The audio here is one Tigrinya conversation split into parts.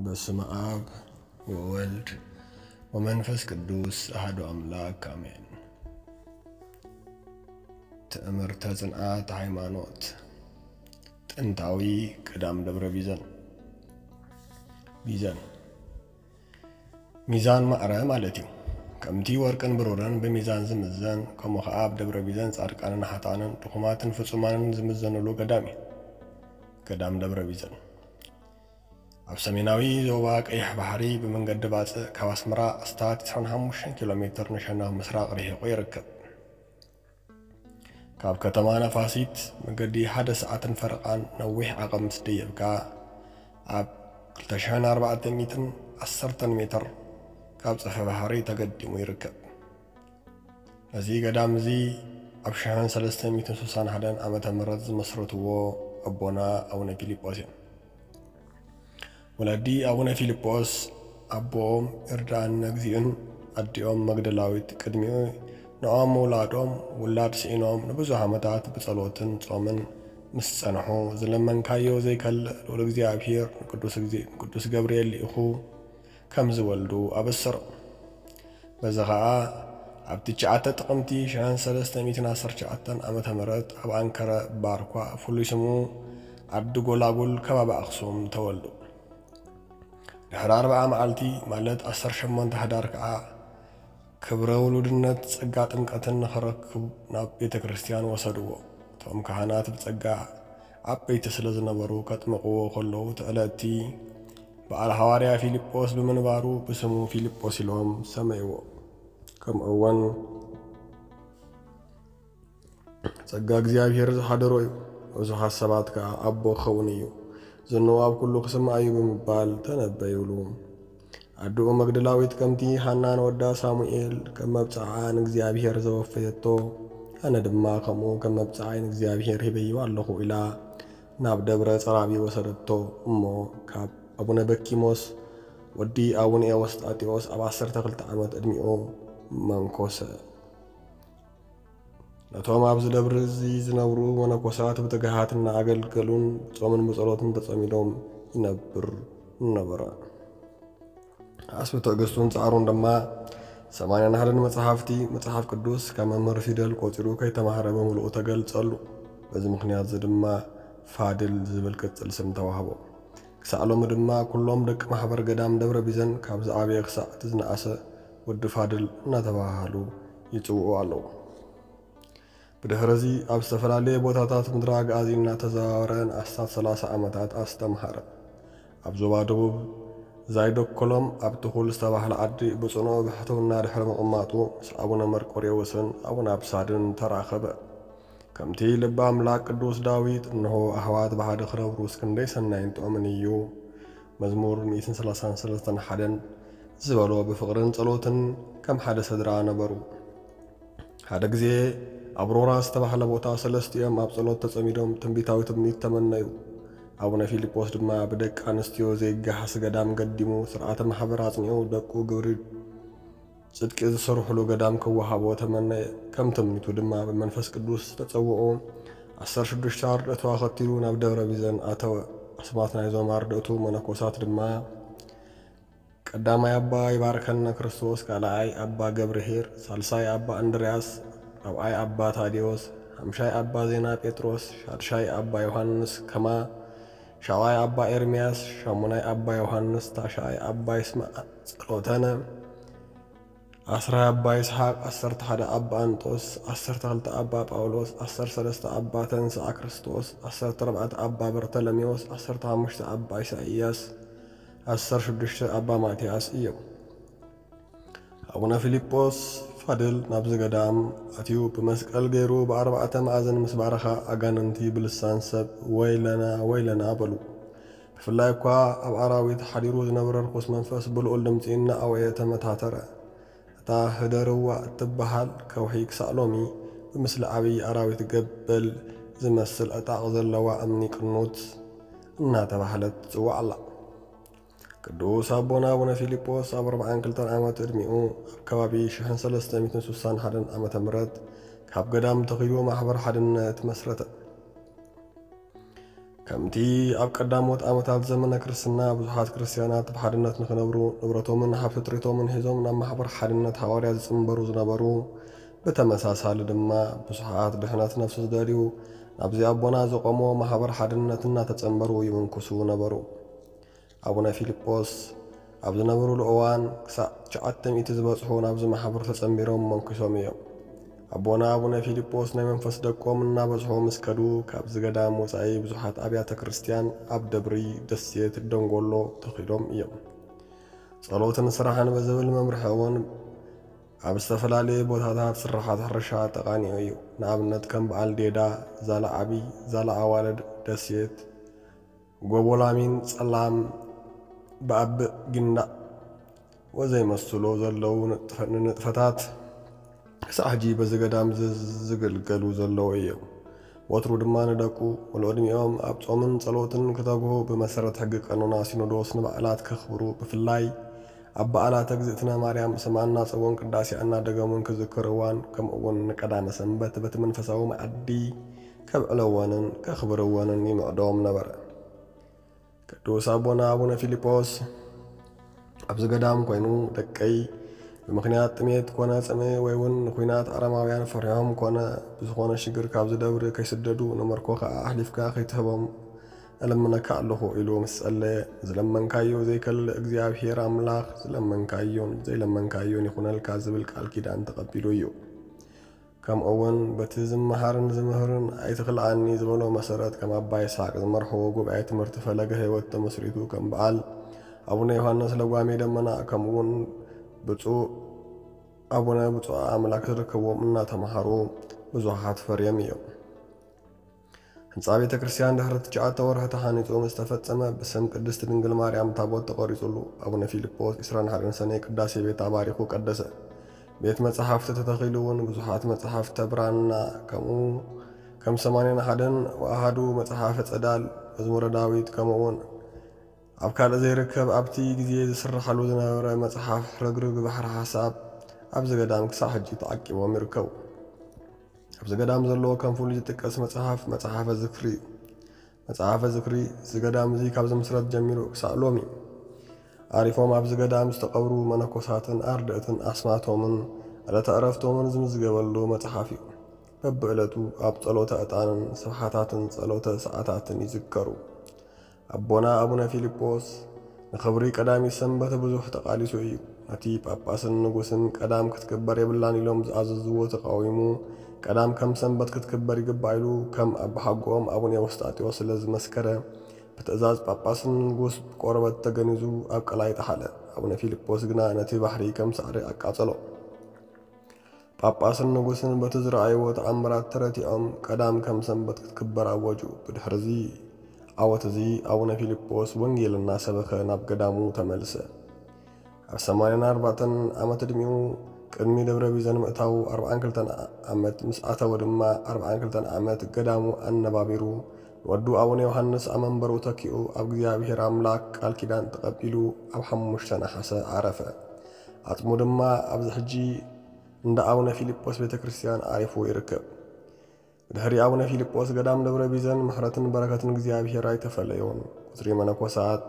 በስመ አብ ወወልድ ወመንፈስ ቅዱስ አሐዱ አምላክ አሜን። ትእምርተ ጽንዓት ሃይማኖት፣ ጥንታዊ ገዳም ደብረ ቢዘን። ቢዘን፣ ሚዛን ማዕረ ማለት እዩ። ከምቲ ወርቅን ብሩርን ብሚዛን ዝምዘን፣ ከምኡ ኸዓ ኣብ ደብረ ቢዘን ጻድቃንን ሓጥኣንን ድኹማትን ፍጹማንን ዝምዘንሉ ገዳም እዩ። ገዳም ደብረ ቢዘን ኣብ ሰሜናዊ ዞባ ቀይሕ ባሕሪ ብመንገዲ ባጽዕ ካብ ኣስመራ ኣስታት ዕስራን ሓሙሽተን ኪሎ ሜትር ንሸነኽ ምስራቕ ርሒቑ ይርከብ። ካብ ከተማ ነፋሲት መገዲ ሓደ ሰዓትን ፈረቓን ነዊሕ ዓቐብ ምስ ደየብካ፣ ኣብ ክልተ ሽሕን ኣርባዕተ ሚእትን ዓሰርተን ሜትር ካብ ጸፍሒ ባሕሪ ተገዲሙ ይርከብ። ነዚ ገዳም እዚ ኣብ ሽሕን ሰለስተ ሚእትን ስሳን ሓደን ዓመተ ምህረት ዝመስረትዎ ኣቦና ኣቡነ ፊልጶስ እዮም። ወለዲ ኣቡነ ፊልጶስ፣ ኣቦኦም ይርድኣነ እግዚእን ኣዲኦም መግደላዊት ቅድሚኡ ንዖም ምውላዶም፣ ውላድ ስኢኖም ንብዙሕ ዓመታት ብጸሎትን ጾምን ምስ ጸንሑ፣ ዝለመንካዮ ዘይከልእ ልዑል እግዚኣብሔር ንቅዱስ ግዜ-፣ ንቅዱስ ገብርኤል ልኢኹ ከም ዝወልዱ ኣበሰሮም። በዚ ኸኣ ኣብ ትሽዓተ ጥቅምቲ ሽሕን ሰለስተ ሚእትን ዓሰርተ ትሽዓተን ዓመተ ምህረት ኣብ ኣንከረ ባርኳ፣ ፍሉይ ስሙ ዓዲ ጎላጉል፣ ከባቢ ኣኽሱም ተወልዱ። ድሕሪ ኣርብዓ መዓልቲ፣ ማለት ዓሰርተ ሸሞንተ ሕዳር ከኣ ክብረ ውሉድነት ጸጋ ጥምቀትን ንኽረክብ ናብ ቤተ ክርስቲያን ወሰድዎ። እቶም ካህናት ብጸጋ ዓበይቲ ስለ ዝነበሩ፣ ከጥምቕዎ ከለዉ፣ እቲ ዕለት'ቲ በዓል ሃዋርያ ፊልጶስ ብምንባሩ ብስሙ ፊልጶስ ኢሎም ሰመይዎ። ከምኡ እውን ጸጋ እግዚኣብሔር ዝሓደሮ እዩ። ብዙሓት ሰባት ከኣ ኣቦ ክኸውን እዩ፣ ዝንኡ ኣብ ኩሉ ክስማዕ እዩ ብምባል ተነበዩሉ። ኣድኡ መግደላዊት ከምቲ ሃና ንወዳ ሳሙኤል ከም መብጽዓ ንእግዚኣብሔር ዘወፈየቶ፣ ኣነ ድማ ከምኡ ከም መብጽዓይ ንእግዚኣብሔር ሂበዮ ኣለኹ ኢላ ናብ ደብረ ጸራቢ ወሰደቶ። እሞ ካብ ኣቡነ በኪሞስ ወዲ ኣቡነ ኤዎስጣቴዎስ ኣብ ዓሰርተ ክልተ ዓመት ዕድሚኡ መንኮሰ። ነቶም ኣብዚ ደብሪ እዚ ዝነብሩ መነኮሳት ብትግሃት እናኣገልገሉን ብጾምን ብጸሎትን ተጸሚዶም ይነብር ነበረ። ዓስቢ ትዕግስቱን ጻዕሩን ድማ ሰማንያን ሓደን መጽሓፍቲ መጽሓፍ ቅዱስ ካብ መምህር ፊደል ቆጺሩ ከይተማህረ ብምሉኡ ተገልጸሉ። በዚ ምኽንያት እዚ ድማ ፋድል ዝብል ቅጽል ስም ተዋህቦ። ክሳዕ ሎሚ ድማ ኩሎም ደቂ ማሕበር ገዳም ደብረ ቢዘን ካብ ዝዓበየ ክሳዕ እቲ ዝነኣሰ ወዲ ፋድል እናተባሃሉ ይጽውዑ ኣለዉ። ብድሕሪ እዚ ኣብ ዝተፈላለየ ቦታታት ምድረ ኣግኣዚ እናተዘዋወረ ንኣስታት ሰላሳ ዓመታት ኣስተምሃረ። ኣብ ዞባ ደቡብ ዛይዶኮሎም ኣብ ትኹል ዝተባህለ ዓዲ ብጽኑዕ ብሕትውና ድሕሪ ምቕማጡ ምስ ኣቡነ መርቆሬዎስን ኣቡነ ኣብሳድን ተራኸበ። ከምቲ ልበ ኣምላክ ቅዱስ ዳዊት፣ "እንሆ ኣሕዋት ብሓደ ክነብሩስ ክንደይ ሰናይን ጥዑምን እዩ" መዝሙር ሚእትን ሰላሳን ሰለስተን ሓደን ዝበሎ ብፍቕርን ጸሎትን ከም ሓደ ስድራ ነበሩ። ሓደ ግዜ ኣብ ሮራ ዝተባህለ ቦታ ሰለስቲኦም ኣብ ጸሎት ተጸሚዶም ትንቢታዊ ትምኒት ተመነዩ። ኣቡነ ፊልጶስ ድማ ብደቂ ኣንስትዮ ዘይገሃስ ገዳም ገዲሙ ስርዓተ ማሕበር ኣጽኒዑ ደቁ ግብሪ ጽድቂ ዝሰርሕሉ ገዳም ክወሃቦ ተመነየ። ከም ትምኒቱ ድማ ብመንፈስ ቅዱስ ተጸውዑ ዓሰርተ ሽዱሽተ ኣርድእቱ ኣኸቲሉ ናብ ደብረ ቢዘን ኣተወ። ኣስማት ናይዞም ኣርድእቱ መነኮሳት ድማ ቀዳማይ ኣባ ይባርከነ ክርስቶስ፣ ካልኣይ ኣባ ገብርሄር፣ ሳልሳይ ኣባ እንድርያስ፣ ራብዓይ ኣባ ታዲዮስ፣ ሓምሻይ ኣባ ዜና ጴጥሮስ፣ ሻድሻይ ኣባ ዮሃንስ ከማ፣ ሻብዓይ ኣባ ኤርምያስ፣ ሻሙናይ ኣባ ዮሃንስ፣ ታሽዓይ ኣባ ይስማዕ ጸሎተነ፣ ዓስራይ ኣባ ይስሓቅ፣ ዓሰርተ ሓደ ኣባ ኣንጦስ፣ ዓሰርተ ክልተ ኣባ ጳውሎስ፣ ዓሰርተ ሰለስተ ኣባ ተንስኣ ክርስቶስ፣ ዓሰርተ ኣርባዕተ ኣባ በርተለሜዎስ፣ ዓሰርተ ሓሙሽተ ኣባ ኢሳይያስ፣ ዓሰርተ ሽዱሽተ ኣባ ማትያስ እዮም። ኣቡነ ፊልጶስ ፋድል ናብዚ ገዳም ኣትዩ ብመስቀል ገይሩ ብኣርባዕተ መኣዝን ምስ ባረኻ፣ ኣጋንንቲ ብልሳን ሰብ "ወይለና፣ ወይለና" በሉ። ብፍላይ እኳ ኣብ ኣራዊት ሓዲሩ ዝነበረ ርኹስ መንፈስ ብልዑል ድምጺ እናኣወየ ተመታተረ። እታ ህደርዋ እትበሃል ከውሒ ክሳዕ ሎሚ ብምስሊ ዓብዪ ኣራዊት ገበል ዝመስል ዕጣቕ ዘለዋ እምኒ ቅኑት እናተባህለት ትጽዋዕ ኣላ። ቅዱስ ኣቦና ኣቡነ ፊልጶስ ኣብ ኣርባዓን ክልተን ዓመት ዕድሚኡ ኣብ ከባቢ ሽሕን ሰለስተ ሚእትን ስሳን ሓደን ዓመተ ምህረት ካብ ገዳም ተኺሉ ማሕበር ሓድነት መስረተ። ከምቲ ኣብ ቀዳሞት ዓመታት ዘመነ ክርስትና ብዙሓት ክርስትያናት ብሓድነት ንኽነብሩ ንብረቶምን ሃብቲ ጥሪቶምን ሒዞም ናብ ማሕበር ሓድነት ሃዋርያ ዝጽንበሩ ዝነበሩ፣ ብተመሳሳሊ ድማ ብዙሓት ድሕነት ነፍሲ ዝደልዩ ናብዚ ኣቦና ዘቆሞ ማሕበር ሓድነት እናተጸንበሩ ይምንኩሱ ነበሩ። ኣቡነ ፊልጶስ ኣብ ዝነበሩሉ እዋን ክሳዕ ትሽዓተ ሚእቲ ዝበጽሑ ናብዚ ማሕበር ተጸንቢሮም መንኩሶም እዮም። ኣቦና ኣቡነ ፊልጶስ ናይ መንፈስ ደቆም እናበዝሑ ምስ ከዱ ካብዚ ገዳም ወጻኢ ብዙሓት ኣብያተ ክርስትያን ኣብ ደብሪ፣ ደሴት፣ ደንጎሎ ተኺሎም እዮም። ጸሎትን ስራሕን ብዝብል መምርሒ እውን ኣብ ዝተፈላለየ ቦታታት ስራሓት ሕርሻ ተቓኒዑ እዩ። ንኣብነት ከም በዓል ዴዳ፣ ዛላ ዓቢ፣ ዛላ ኣዋልድ፣ ደሴት፣ ጎቦ ላሚን፣ ጸላም፣ ብኣብእ፣ ጊንዳዕ ወዘይመስሎ ዘለዉ ንጥፈ-፣ ንንጥፈታት ክሳዕ ሕጂ በዚ ገዳም ዝ-፣ ዝግልገሉ ዘለዉ እዮም። ወትሩ ድማ ንደቁ ወለዕድሚኦም ኣብ ጾምን ጸሎትን ክተግሁ ብመሰረት ሕጊ ቀኖና ሲኖዶስ ንበዓላት ከኽብሩ ብፍላይ ኣብ በዓላት እግዝእትነ ማርያም ሰማንና ጽውኡን ቅዳሴኣ እናደገሙን ክዝክርዋን ከምኡ እውን ንቀዳመ ሰንበት በቲ መንፈሳዊ መኣዲ ከብዕለወንን ከኽብርወንን ይምዕዶም ነበረ። ቅዱስ ኣቦና ኣቡነ ፊልጶስ ኣብዚ ገዳም ኮይኑ ደቀይ ብምኽንያት ጥሜት ኮነ ጽምኢ ወይ እውን ንኹናት ኣረማውያን ፈሪሖም ኮነ ብዝኾነ ሽግር ካብዚ ደብሪ ከይስደዱ ንመርኮ ከኣ ኣሕሊፍካ ከይትህቦም እልምነካ ኣለኹ ኢሉ ምስ ጸለየ፣ ዝለመንካዮ ዘይከልእ እግዚኣብሔር ኣምላኽ ዝለመንካዮን ዘይለመንካዮን ይኹነልካ ዝብል ቃል ኪዳን ተቐቢሉ እዩ። ከምኡ እውን በቲ ዝመሃርን ዝምህርን ኣይትኽልኣኒ ዝበሎ መሰረት ከም ኣባ ይስሓቅ ዝመርሕዎ ጉባኤ ትምህርቲ ፈለገ ሕይወት ተመስሪቱ ከም በዓል ኣቡነ ዮሃንስ ለጓሜ ደመና ከምኡ እውን ብፁዕ ኣቡነ ብፁዕ ኣምላክ ዝርከብዎም እናተምሃሩ ብዙሓት ፈርዮም እዮም። ህንፃ ቤተ ክርስቲያን ድሕሪ ትሽዓተ ወርሒ ተሃኒፁ ምስ ተፈፀመ ብስም ቅድስት ድንግል ማርያም ታቦት ተቐሪፁሉ ኣቡነ ፊልጶስ ዕስራን ሓደን ሰነ ቅዳሴ ቤት ኣባሪኹ ቀደሰ። ቤት መጽሓፍቲ ተተኺሉ እውን ብዙሓት መጽሓፍተ ብራና ከምኡ ከም ሰማንያን ሓደን ወኣሃዱ መጽሓፈ ጸዳል፣ መዝሙረ ዳዊት ከምኡ እውን ኣብ ካልእ ዘይርከብ ኣብቲ ግዜ ዝስርሓሉ ዝነበረ መጽሓፍ ረግርግ ባሕሪ ሓሳብ ኣብዚ ገዳም ክሳዕ ሕጂ ተዓቂቦም ይርከቡ። ኣብዚ ገዳም ዘሎ ከም ፍሉይ ዝጥቀስ መጽሓፍ መጽሓፈ ዝክሪ እዩ። መጽሓፈ ዝክሪ እዚ ገዳም እዚ ካብ ዝምስረት ጀሚሩ ክሳዕ ሎሚ ኣሪፎም ኣብዚ ገዳም ዝተቐብሩ መነኮሳትን ኣርድእትን ኣስማቶምን ዕለተ ዕረፍቶምን ዝምዝገበሉ መጽሓፍ እዩ። በብዕለቱ ኣብ ጸሎተ ዕጣንን ስብሓታትን ጸሎተ ሰዓታትን ይዝከሩ። ኣቦና ኣቡነ ፊልጶስ ንኽብሪ ቀዳሚት ሰንበት ብዙሕ ተቓሊሱ እዩ። ነቲ ጳጳስን ንጉስን ቀዳም ክትክበር የብላን ኢሎም ዝኣዘዝዎ ተቓዊሙ፣ ቀዳም ከም ሰንበት ክትክበር ይግባእ ኢሉ ከም ኣባሓጎኦም ኣቡነ ኤዎስጣቴዎስ ስለ ዝመስከረ፣ ብትእዛዝ ጳጳስን ንጉስ ብቆርበት ተገኒዙ ኣብ ቀላይ ጠሓለ። ኣቡነ ፊልጶስ ግና ነቲ ባሕሪ ከም ሳዕሪ ኣቃጸሎ። ጳጳስን ንጉስን በቲ ዝረኣይዎ ተኣምራት ተረቲዖም ቀዳም ከም ሰንበት ክትክበር ኣወጁ። ብድሕርዚ ዓወት እዚ ኣቡነ ፊልጶስ ወንጌል እናሰበኸ ናብ ገዳሙ ተመልሰ። ኣብ ሰማንያን ኣርባዕተን ዓመት ዕድሚኡ ቅድሚ ደብረ ቢዘን ምእታዉ ኣርብዓን ክልተን ዓመት ምስ ኣተወ ድማ ኣርብዓን ክልተን ዓመት ገዳሙ ኣነባቢሩ ንወዱ ኣቡነ ዮሃንስ ኣብ መንበሩ ተኪኡ ኣብ እግዚኣብሔር ኣምላክ ቃል ኪዳን ተቐቢሉ ኣብ ሓሙሽተ ነሓሰ ዓረፈ። ኣጽሙ ድማ ኣብዚ ሕጂ እንዳ ኣቡነ ፊልጶስ ቤተ ክርስቲያን ዓሪፉ ይርከብ። ብድሕሪ ኣቡነ ፊልጶስ ገዳም ደብረ ቢዘን ምሕረትን በረከትን እግዚኣብሔር ኣይተፈለዮን። ቁጽሪ መነኮሳት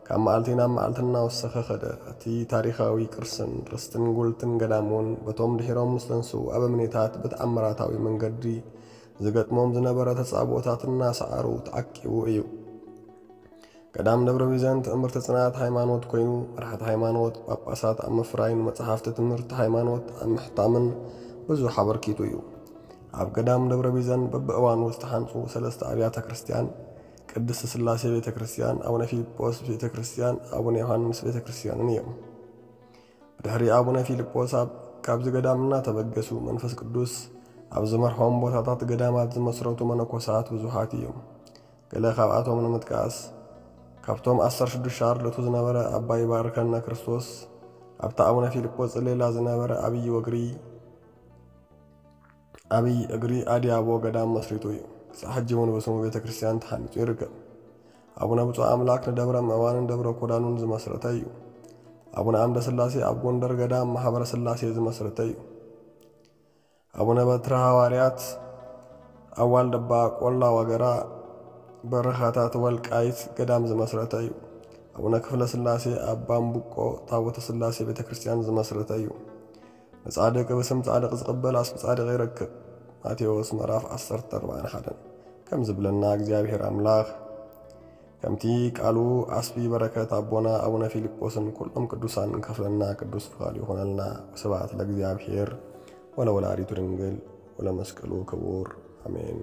ካብ መዓልቲ ናብ መዓልቲ እናወሰኸ ኸደ። እቲ ታሪኻዊ ቅርስን ርስትን ጉልትን ገዳም እውን በቶም ድሒሮም ምስ ተንስኡ ኣበምኔታት ብተኣምራታዊ መንገዲ ዝገጥሞም ዝነበረ ተጻብኦታት እናሰዓሩ ተዓቂቡ እዩ። ገዳም ደብረ ቢዘን ትእምርቲ ጽንዓት ሃይማኖት ኮይኑ፣ መራሕቲ ሃይማኖት፣ ጳጳሳት ኣብ ምፍራይን መጽሓፍቲ ትምህርቲ ሃይማኖት ኣብ ምሕታምን ብዙሕ ኣበርኪቱ እዩ። ኣብ ገዳም ደብረ ቢዘን በብእዋኑ ዝተሓንጹ ሰለስተ ኣብያተ ክርስቲያን፣ ቅድስት ስላሴ ቤተ ክርስቲያን፣ ኣቡነ ፊልጶስ ቤተ ክርስቲያን፣ ኣቡነ ዮሃንስ ቤተ ክርስቲያንን እዮም። ብድሕሪ ኣቡነ ፊልጶስ ኣብ፣ ካብዚ ገዳም እናተበገሱ መንፈስ ቅዱስ ኣብ ዝመርሖም ቦታታት ገዳማት ዝመስረቱ መነኮሳት ብዙሓት እዮም። ገለ ካብኣቶም ንምጥቃስ፣ ካብቶም ዓሰርተ ሽዱሽተ ኣርድእቱ ዝነበረ ኣባ ይባርከነ ክርስቶስ፣ ኣብታ ኣቡነ ፊልጶስ ጽሌላ ዝነበረ ኣብይ ወግሪ፣ ኣብይ እግሪ ኣድያቦ ገዳም መስሪቱ እዩ። ክሳዕ ሕጂ እውን ብስሙ ቤተ ክርስቲያን ተሃኒጹ ይርከብ። ኣቡነ ብፁዕ ኣምላክ ንደብረ ምእዋንን ደብረ ኮዳኑን ዝመስረተ እዩ። ኣቡነ ኣምደ ስላሴ ኣብ ጎንደር ገዳም ማሕበረ ስላሴ ዝመስረተ እዩ። ኣቡነ በትረ ሃዋርያት ኣብ ዋልድባ ቆላ ዋገራ በረኻታት ወልቃይት ገዳም ዝመስረተ እዩ። ኣቡነ ክፍለ ስላሴ ኣብ ባምቡቆ ታቦተ ስላሴ ቤተ ክርስቲያን ዝመስረተ እዩ። ንጻድቅ ብስም ጻድቅ ዝቕበል ኣስቢ ጻድቅ ይረክብ። ማቴዎስ ምዕራፍ ዓሰርተ ኣርባዕን ሓደን። ከም ዝብለና እግዚኣብሔር ኣምላኽ ከምቲ ቃሉ ኣስቢ በረከት ኣቦና ኣቡነ ፊልጶስን ኩሎም ቅዱሳን ከፍለና ቅዱስ ፍቓዱ ይኹነልና። ወስብሐት ለእግዚኣብሔር ወለወላዲቱ ድንግል ወለመስቀሉ ክቡር። ኣሜን።